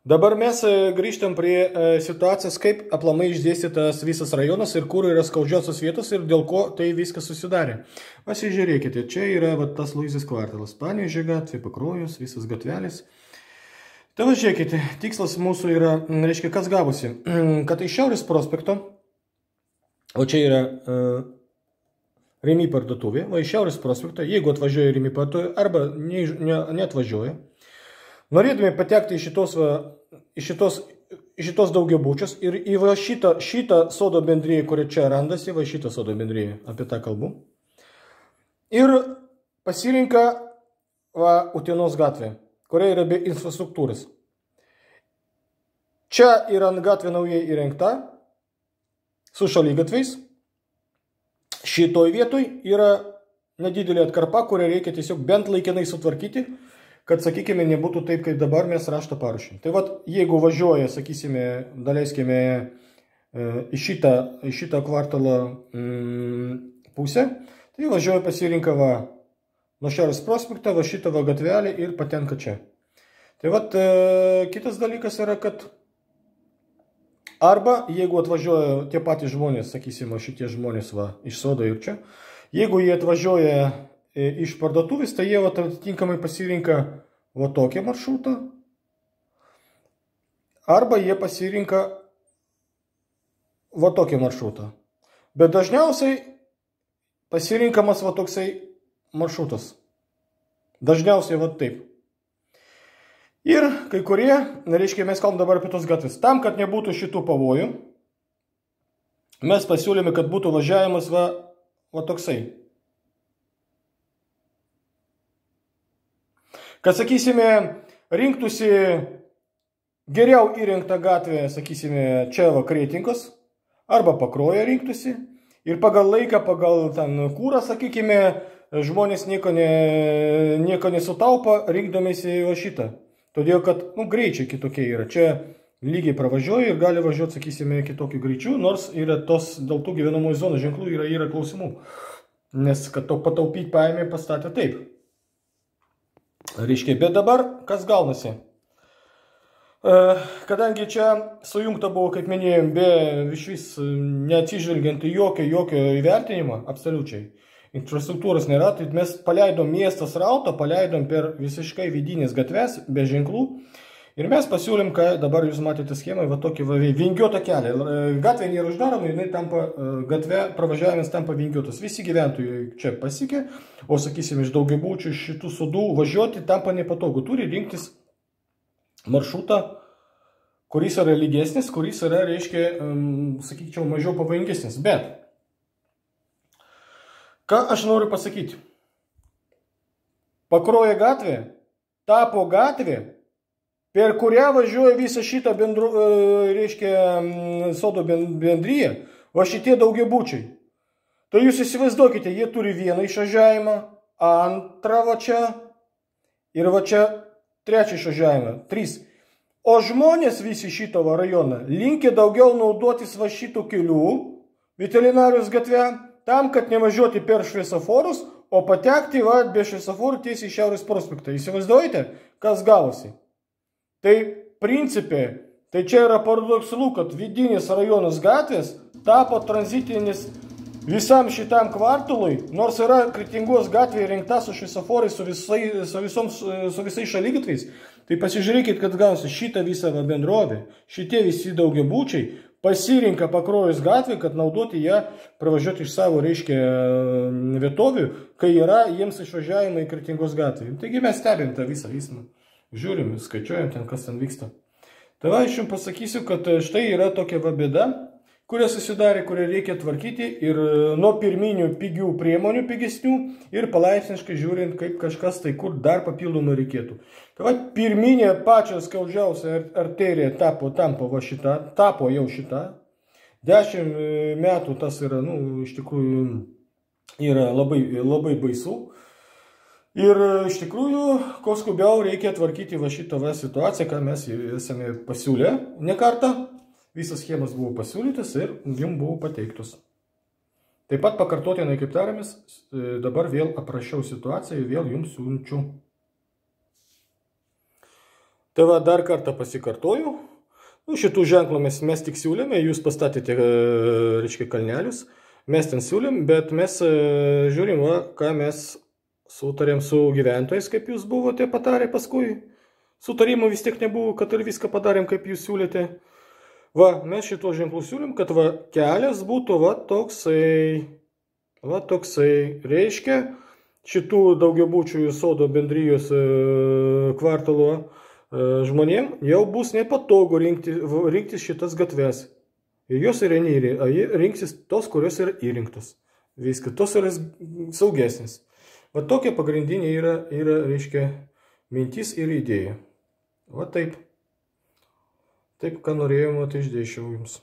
Dabar mes grįžtam prie situacijos, kaip aplamai išdėstytas visas rajonas ir kur yra skaudžiausios vietos ir dėl ko tai viskas susidarė. Pasižiūrėkite, čia yra tas Luizės kvartalas, Panevėžio gatvė, Pakruojus, visas gatvelis. Tai va, žiūrėkite, tikslas mūsų yra, reiškia, kas gavosi, kad iš Šiaurės prospekto, o čia yra Rimi parduotuvė, o iš Šiaurės prospekto, jeigu atvažiuoja Rimi parduotuvė arba neatvažiuoja, norėdami patekti į šitos daugiabučius ir į šitą sodo bendriją, kuri čia randasi, šitą sodo bendriją, apie tą kalbu, ir pasirinka Utenos gatvę, kuria yra be infrastruktūros. Čia yra gatvė naujai įrengta, su šaligatviais. Šitoj vietoj yra nedidelė atkarpa, kurią reikia tiesiog bent laikinai sutvarkyti, kad, sakykime, nebūtų taip, kaip dabar mes raštą paruošim. Tai vat, jeigu važiuoja, sakysime, daleiskime į šitą kvartalą pusę, tai važiuoja pasirinka nuo Šiaurės prospektą, šitą gatvelį ir patenka čia. Tai vat, kitas dalykas yra, kad arba, jeigu atvažiuoja tie patys žmonės, sakysime, šitie žmonės iš sodo ir čia, jeigu jie atvažiuoja iš parduotuvės, tai jie atitinkamai pasirinka tokį maršrutą, arba jie pasirinka tokį maršrutą. Bet dažniausiai pasirinkamas toksai maršrutas. Dažniausiai taip. Ir kai kurie, reiškia, mes kalbam dabar apie tos gatvės. Tam, kad nebūtų šitų pavojų, mes pasiūlėme, kad būtų važiavimas toksai. Kad, sakysime, rinktųsi geriau įrengtą gatvę, sakysime, čia Kretingos, arba Pakruojo rinktųsi, ir pagal laiką, pagal kūrą, sakykime, žmonės nieko nesutaupa, rinkdamėsi šitą. Todėl, kad, greičiai kitokie yra. Čia lygiai pravažiuoja ir gali važiuoti, sakysime, kitokiu greičiu, nors yra dėl tų gyvenamųjų zonų ženklų yra klausimų. Nes, kad to pataupyti paėmė, pastatė taip. Reiškia, bet dabar kas gaunasi? Kadangi čia sujungta buvo, kaip minėjom, iš vis neatsižvelgiant į jokio įvertinimą, absoliučiai. Infrastruktūros nėra, tai mes paleidom miestą srautą, paleidom per visiškai vidinės gatves, be ženklų. Ir mes pasiūlėm, kad dabar jūs matėte schemą, tokį vingiuotą kelią. Gatvė nėra uždaroma, jinai tampa, gatvė pravažiavimas tampa vingiuotas. Visi gyventojai čia pasikė, o, sakysime, iš daugiabučių, iš šitų sodų važiuoti tampa nepatogu. Turi rinktis maršrutą, kuris yra lygesnis, kuris yra, reiškia, sakyčiau, mažiau pavojingesnis. Bet, ką aš noriu pasakyti? Pakruojo gatvė tapo gatvė, per kurią važiuoja visą šitą sodo bendryje, šitie daugiabučiai. Tai jūs įsivaizduokite, jie turi vieną išvažiavimą, antrą čia ir čia trečią išvažiavimą, 3. O žmonės visi šito rajoną linkia daugiau naudotis šitų kelių, veterinarijos gatvę, tam, kad nevažiuoti per šviesoforus, o patekti be šviesoforų tiesiai į Šiaurės prospektą. Įsivaizduojate, kas gavosi? Tai principė, tai čia yra paradoksalu, kad vidinis rajonas gatvės tapo tranzitinis visam šitam kvartalui, nors yra Kretingos gatvė įrengta su šviesoforais, su visais šaligatviais. Tai pasižiūrėkit, kad gausi šitą visą bendrovę, šitie visi daugiabučiai pasirinka Pakruojos gatvę, kad naudoti ją pravažiuoti iš savo, reiškia, vietovių, kai yra jiems išvažiavimai į Kretingos gatvę. Taigi mes stebim tą visą vismą. Žiūrim, skaičiuojam ten, kas ten vyksta. Tai aš jums pasakysiu, kad štai yra tokia bėda, kuria susidarė, kurią reikia tvarkyti ir nuo pirminių pigių priemonių pigesnių ir palaipsniškai žiūrint, kaip kažkas tai kur dar papildomai reikėtų. Tai pirminė pačia skaudžiausia arterija tapo jau šita. 10 metų tas yra, iš tikrųjų, yra labai baisu. Ir iš tikrųjų, ko skubiau reikia tvarkyti šitą situaciją, ką mes esame pasiūlę ne kartą. Visas schemas buvo pasiūlytas ir jums buvo pateiktos. Taip pat pakartotinai, kaip tarėmės, dabar vėl aprašiau situaciją ir vėl jums siunčiu. Tai va, dar kartą pasikartoju. Nu, šitų ženklų mes tik siūlėme, jūs pastatėte, reiškia, kalnelius, mes ten siūlėm, bet mes žiūrim, va, ką mes sutarėm su gyventojais, kaip jūs buvote patarę paskui. Sutarimo vis tiek nebuvo, kad ir viską padarėm, kaip jūs siūlėte. Va, mes šito ženklų siūlėm, kad va, kelias būtų va toksai. Va toksai. Reiškia, šitų daugiabučių sodo bendrijos kvartalo žmonėm jau bus nepatogu rinktis šitas gatves. Ir jos yra rinksis tos, kurios yra įrinktos. Viskas, tos yra saugesnis. Va tokia pagrindinė yra, reiškia, mintis ir idėja. Va taip. Taip, ką norėjom, tai išdėsčiau jums.